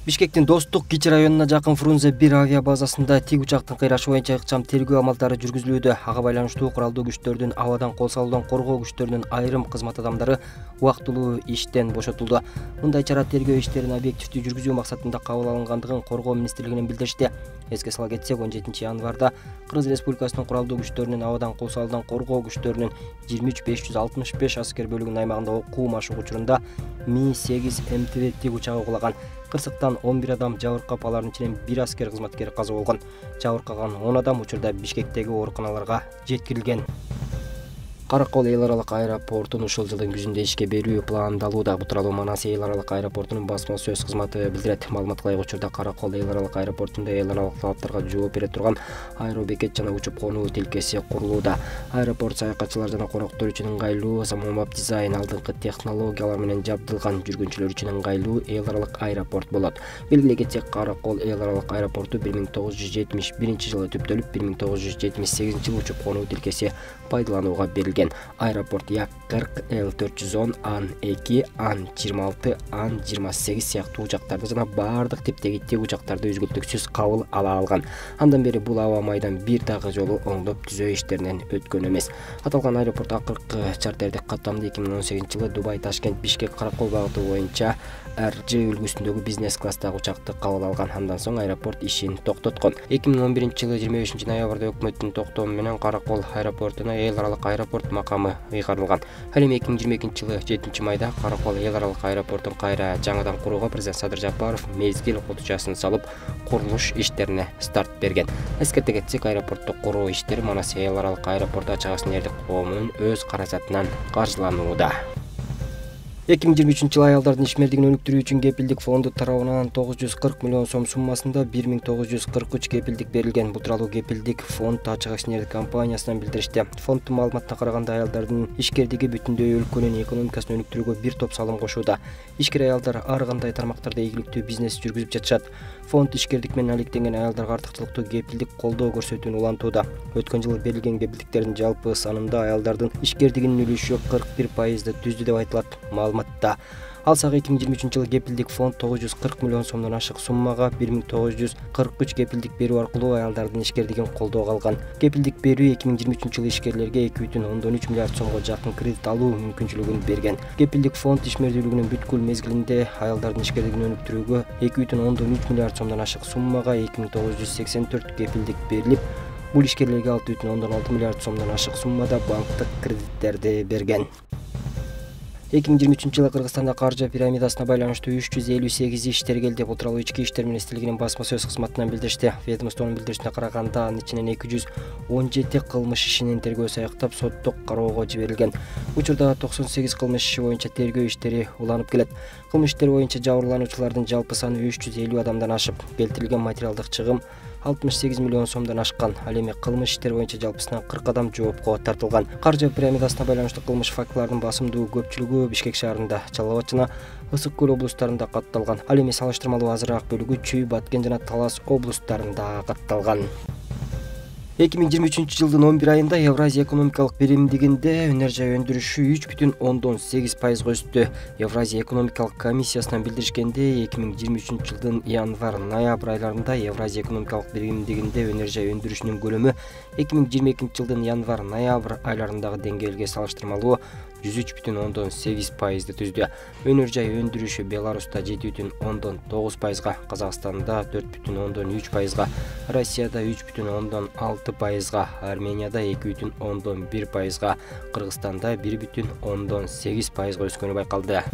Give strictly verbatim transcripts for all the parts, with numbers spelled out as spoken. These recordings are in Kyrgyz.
Бишкектин Достук Кичи районуна жакын Фрунзе бир авиа базасында тик учактын кыйрашы боюнча ыкчам тергөө амалдары жүргүзүлүүдө. Ага байланыштуу куралдуу күчтөрдүн, абадан кол салуудан коргоо күчтөрүнүн айрым кызмат адамдары убактылуу иштен бошотулду. Мындай чара тергөө иштерин объективдүү жүргүзүү максатында кабыл алынгандыгын Коргоо министрлигинен билдиришти. Эске сала кетсек, он жетинчи январда Кыргыз Республикасынын куралдуу күчтөрүнүн, абадан кол салуудан коргоо күчтөрүнүн жыйырма үч беш жүз алтымыш беш аскер бөлүгүнүн аймагында окуу машык учурунда Ми сегиз М Т В тик учагы кулаган. Кырсыктан он бир адам жабыркап, алардын ичинен бир аскер кызматкери каза болгон. Жабыркаган он адам учурда Бишкектеги ооруканаларга жеткирилген. Каракол эл аралык аэропортун ушул жылдын күзүндө ишке берүү пландалууда. Бул тууралуу Манас эл аралык аэропортунун басма сөз кызматы билдирет. Маалыматка ылайык, учурда Каракол эл аралык аэропортунда эл аралык талаптарга жооп бере турган аэробекет жана учуп конуу тилкеси курулууда. Аэропорт саякатчылар жана коноктор үчүн ыңгайлуу, заманбап дизайн, алдыңкы технологиялар менен жабдылган, жүргүнчүлөр үчүн ыңгайлуу эл аралык аэропорт болот. Белгилей кетсек, Каракол эл аралык аэропорту бир миң тогуз жүз жетимиш биринчи жылы түптөлүп, бир миң тогуз жүз жетимиш сегизинчи жылы учуп конуу тилкеси пайдаланууга берилген. Аэропорт Як кырк, Л төрт жүз он, Ан эки, Ан жыйырма алты, Ан жыйырма сегиз сыяктуу учактарды жана баардык типтеги тик учактарды үзгүлтүксүз кабыл ала алган. Андан бери бул аба майдан бир дагы жолу оңдоп түзөө иштеринен өткөн эмес. Аталган аэропорт акыркы чартердик каттамды эки миң он сегизинчи жылы Дубай, Ташкент, Бишкек, Каракол багыты боюнча Р Ж үлгүсүндөгү бизнес класстагы учакты кабыл алган. Андан соң аэропорт ишин токтоткон. эки миң он биринчи жылы жыйырма бешинчи ноябрда өкмөттүн токтому менен Каракол аэропортуна эл аралык аэропорт макамы ыйгарылган. Ал эми эки миң жыйырма экинчи жылы жетинчи майда Каракол эл аралык аэропортун кайра жаңыдан курууга президент Садыр Жапаров мезгил котучасын салып, курулуш иштерине старт берген. Эскерте кетсек, аэропортту куруу иштери Манас эл аралык аэропорту ачык асыл эрдик коомунун өз каражатынан каржыланууда. эки миң жыйырма үчүнчү жылы аялдардын ишмердигин өнүктүрүү үчүн кепилдик фонду тарабынан тогуз жүз кырк миллион сом суммасында бир миң тогуз жүз кырк үч кепилдик берилген. Бул тууралуу кепилдик фонд ачык акционердик компаниясынан билдиришти. Фонддун маалыматына караганда, аялдардын ишкердиги бүтүндөй өлкөнүн экономикасын өнүктүрүүгө бир топ салым кошууда. Ишкер аялдар ар кандай тармактарда ийгиликтүү бизнес жүргүзүп жатышат. Фонд ишкердик менен алектенген аялдарга артыкчылыктуу кепилдик колдоо көрсөтүүнү улантууда. Өткөн жылы берилген кепилдиктердин жалпы санында аялдардын ишкердигинин үлүшү кырк бир пайызды түздү деп айтылат маалыматта. Алсак, эки миң жыйырма үчүнчү жылы кепилдик фонд тогуз жүз кырк миллион сомдон ашык суммага бир миң тогуз жүз кырк үч кепилдик берүү аркылуу аялдардын ишкердигин колдоого алган. Кепилдик берүү эки миң жыйырма үчүнчү жылы ишкерлерге эки бүтүн ондон үч миллиард сомго жакын кредит алуу мүмкүнчүлүгүн берген. Кепилдик фонд ишмердүүлүгүнүн бүткүл мезгилинде аялдардын ишкердигин өнүктүрүүгө эки бүтүн ондон үч миллиард сомдон ашык суммага эки миң тогуз жүз сексен төрт кепилдик берилип, бул ишкерлерге алты бүтүн ондон алты миллиард сомдон ашык суммада банктык кредиттерди берген. эки миң жыйырма үчүнчү жылы Кыргызстанда каржы пирамидасына байланыштуу үч жүз элүү сегиз иш тергелди. Бул тууралуу Ички иштер министрлигинин басма сөз кызматынан билдиришти. Ведомствонун билдиришине караганда, анын ичинен эки жүз он жети кылмыш ишинин тергөөсү аяктап, соттук кароого жиберилген. Учурда токсон сегиз кылмыш иши боюнча тергөө иштери уланып келет. Кылмыш иштери боюнча жабырлануучулардын жалпы саны үч жүз элүү адамдан ашып, келтирилген материалдык чыгым алтымыш сегиз миллион сомдон ашкан. Ал эми кылмыш иштери боюнча жалпысынан кырк адам жоопко тартылган. Каржы пирамидасына байланыштуу кылмыш фактыларынын басымдуу көпчүлүгү Бишкек шаарында, Жалал Абад жана Ысык Көл облустарында катталган. Ал эми салыштырмалуу азыраак бөлүгү Чүй, Баткен жана Талас облустарында катталган. эки миң жыйырма үчүнчү жылдын он бир айында Евразия экономикалык биримдигинде өнөр жай өндүрүшү үч бүтүн ондон сегиз пайызга өстү. Евразия экономикалык комиссиясынан билдиришкенде, эки миң жыйырма үчүнчү жылдын январ-ноябрь айларында Евразия экономикалык биримдигинде өнөр жай өндүрүшүнүн көлөмү эки миң жыйырма экинчи жылдын январ-ноябрь айларындагы деңгээлге салыштырмалуу жүз үч бүтүн ондон сегиз пайызды түздү. Өнөр жай өндүрүшү Беларуста жети бүтүн ондон тогуз пайызга, Казакстанда төрт бүтүн ондон үч пайызга, Россияда үч бүтүн ондон алты пайызга, Арменияда эки бүтүн ондон бир пайызга, Кыргызстанда бир бүтүн ондон сегиз пайызга өскөнү байкалды.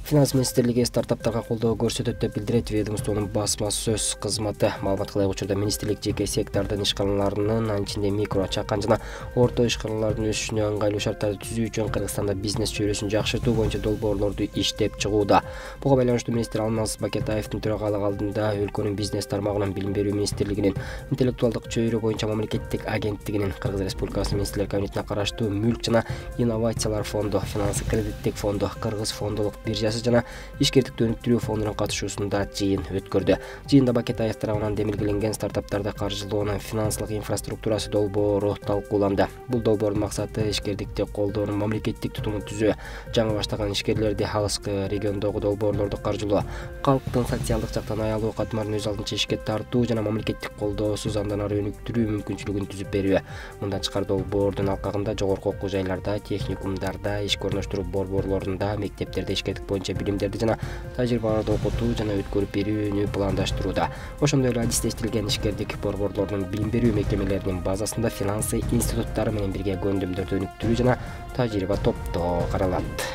Финанс министрлиги стартаптарга колдоо көрсөтөт деп билдирет ведомствонун басма сөз кызматы. Маалыматка ылайык, учурда министрлик жеке сектордун ишканаларынын, анын ичинде микро, чакан жана орто ишканалардын өсүшүнө ыңгайлуу шарттарды түзүү үчүн Кыргызстанда бизнес чөйрөсүн жакшыртуу боюнча долбоорлорду иштеп чыгууда. Буга байланыштуу министр Алмаз Бакетаевдин төрагалыгы алдында өлкөнүн бизнес тармагынын, Билим берүү министрлигинин, интеллектуалдык чөйрө боюнча мамлекеттик агенттигинин, Кыргыз Республикасынын министрлер кабинетине караштуу Мүлк жана инновациялар фонду, Финансы кредиттик фонду, Кыргыз фондулук биржасы инфраструктурасы жана ишкердикти өнүктүрүү фондунун катышуусунда жыйын өткөрдү. Жыйында Бакет АЭС тарабынан демилгеленген стартаптарды каржылоонун финансылык инфраструктурасы долбоору талкууланды. Бул долбоордун максаты ишкердикти колдоонун мамлекеттик тутумун түзүү, жаңы баштаган ишкерлерди алыскы региондогу долбоорлорду каржылоо, калктын социалдык жактан аялуу катмарын өз алдынча ишке тартуу жана мамлекеттик колдоосуз андан ары өнүктүрүү мүмкүнчүлүгүн түзүп берүү. Мындан тышкары долбоордун алкагында жогорку окуу жайларда, техникумдарда, ишке орноштуруу борборлорунда, мектептерде ишкердик боюнча билимдерди жана тажрыйбаларды окутуу жана өткөрүп берүүнү пландаштырууда. Ошондой эле адистештирилген ишкердик борборлордун билим берүү мекемелеринин базасында финансы институттары менен бирге көндүмдөрдү өнүктүрүү жана тажрыйба топтоо каралат.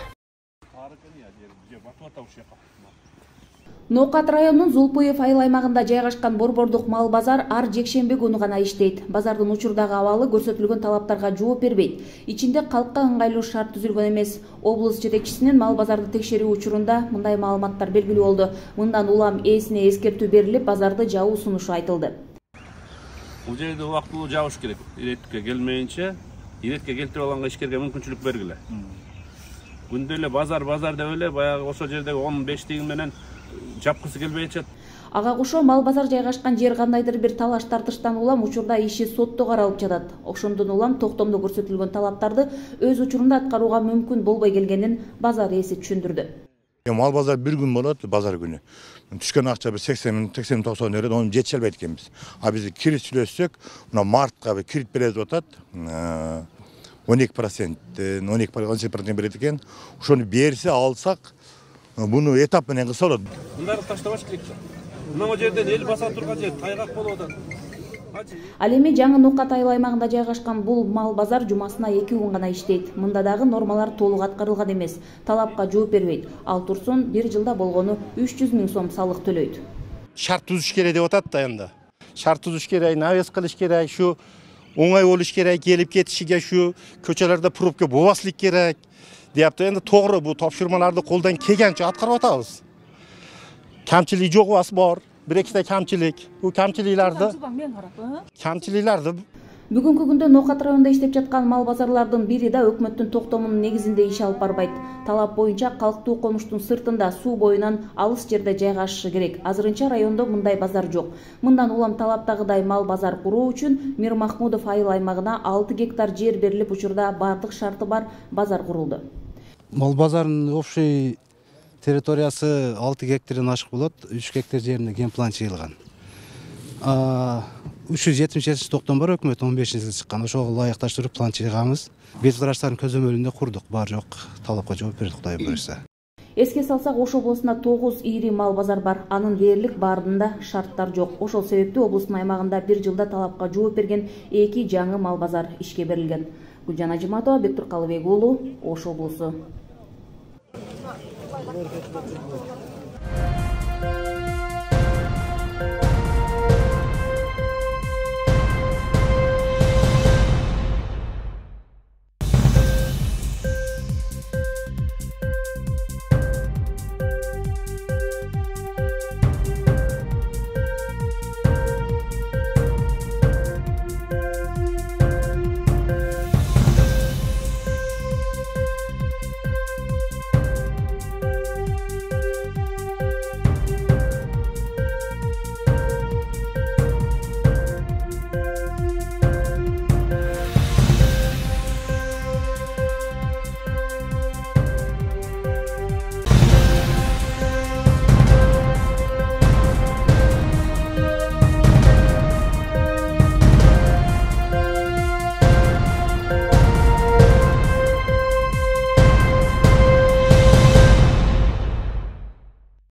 Ноокат районунун Зулпуев айыл аймагында жайгашкан борбордук мал базар ар жекшемби күнү гана иштейт. Базардын учурдагы абалы көрсөтүлгөн талаптарга жооп бербейт. Ичинде калкка ыңгайлуу шарт түзүлгөн эмес. Облус жетекчисинин мал базарды текшерүү учурунда мындай маалыматтар белгилүү болду. Мындан улам ээсине эскертүү берилип, базарды жабуу сунушу айтылды. Бул жерде убактылуу жабыш керек. Иретке келмейинче, иретке келтирип алганга ишкерге мүмкүнчүлүк бергиле. Күндө эле базар базар деп эле баягы ошол жердеги он беш тыйын менен жапкысы келбей атат. Ага кошо мал базар жайгашкан жер кандайдыр бир талаш тартыштан улам учурда иши сотто каралып жатат. Ошондон улам токтомдо көрсөтүлгөн талаптарды өз учурунда аткарууга мүмкүн болбой келгенин базар ээси түшүндүрдү. Мал базар бир күн болот, базар күнү. Түшкөн акча бир сексен сексен токсон берет, аны жетише албайт экенбиз. А биз кирит сүйлөшсөк, мына мартка бир кирит берет деп атат. он эки процент, он эки он сегиз процент берет экен. Ошону берсе алсак, буну этап менен кылса болот. Мындарды таштабаш керек. Мына жерден эл баса турган жер тайгак болуп атат. Ал эми жаңы Ноокат айыл аймагында жайгашкан бул мал базар жумасына эки күн гана иштейт. Мында дагы нормалар толук аткарылган эмес. Талапка жооп бербейт. Ал турсун бир жылда болгону үч жүз миң сом салык төлөйт. Шарт түзүш керек деп атат да энд. Шарт түзүш керек, навес кылыш керек, шу оңой болуш керек, келип кетишиге шу көчөлөрдө пробка болбаслык керек. Deyapti, endi to'g'ri bu topshirmalarni qo'ldan kelgancha atkарып атабыз. Kamchilik yo'q emas bor, bir ikkita kamchilik. Bu kamchiliklarni kamchiliklarni Бүгүнкү күндө Ноокат районунда иштеп жаткан мал базарлардын бири да өкмөттүн токтомунун негизинде иш алып барбайт. Талап боюнча калктуу конуштун сыртында суу боюнан алыс жерде жайгашышы керек. Азырынча райондо мындай базар жок. Мындан улам талаптагыдай мал базар куруу үчүн Мир Махмудов айыл аймагына алты гектар жер берилип, учурда бардык шарты бар базар курулду. Мал базарынын общий территориясы алты гектардан ашык болот. үч гектар жерине генплан чыгылган. үч жүз жетимиш жетинчи токтом бар, өкмөт он бешинчи жылы чыккан. Ошого ылайыкташтырып план чыгабыз. Бет караштардын көзөмөлүндө курдук, бар жок. Талапка жооп бердик, Кудай буйруса. Эске салсак, Ош облусунда тогуз ири мал базар бар. Анын дээрлик баарында шарттар жок. Ошол себептүү облустун аймагында бир жылда талапка жооп берген эки жаңы мал базар ишке берилген. Гүлжан Ажиматова, Бектур Калыбек уулу, Ош облусу.